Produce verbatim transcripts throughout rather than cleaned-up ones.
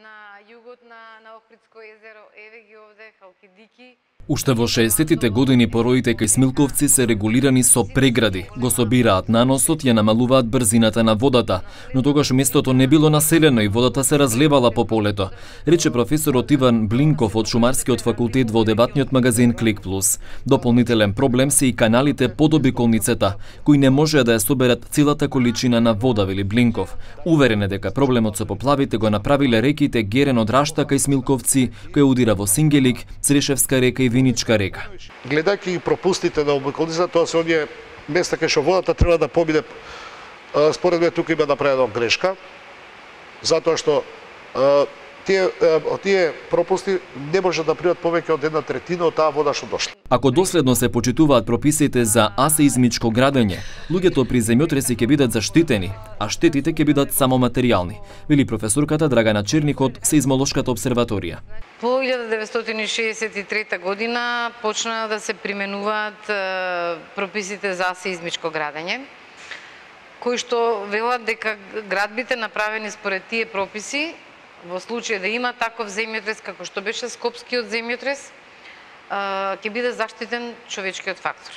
на југот на на Охридско езеро, еве ги овде халкидики. Уште во шеесеттите години пороите кај Смилковци се регулирани со прегради, го собираат наносот, ја намалуваат брзината на водата, но тогаш местото не било населено и водата се разлевала по полето, рече професорот Иван Блинков од Шумарскиот факултет во дебатниот магазин Клик Плюс. Дополнителен проблем се и каналите под обиколницата, кои не можеа да ја соберат целата количина на вода, вели Блинков. Уверен е дека проблемот со поплавите го направиле реките Герен од Рашта кај Смилковци, кој удира во Сингелик, Црешевска река и Виничка река. Гледајќи пропустите на обиколницата, тоа се оние места кај што водата треба да помине. Според мене тука има направена грешка, затоа што тие тие пропусти не може да примат повеќе од една третина од таа вода што дошла. Ако доследно се почитуваат прописите за асеизмичко градење, луѓето при земјотреси ќе бидат заштитени, а штетите ќе бидат само материјални, вели професорката Драгана Черник од Сеизмолошката обсерваторија. По илјада деветстотини шеесет и трета година почна да се применуваат прописите за сеизмичко градење, кои што велат дека градбите направени според тие прописи, во случај да има таков земјотрес како што беше Скопскиот земјотрес, ќе биде заштитен човечкиот фактор.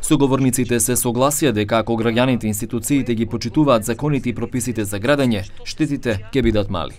Соговорниците се согласија дека ако граѓаните и институциите ги почитуваат законите и прописите за градење, штетите ќе бидат мали.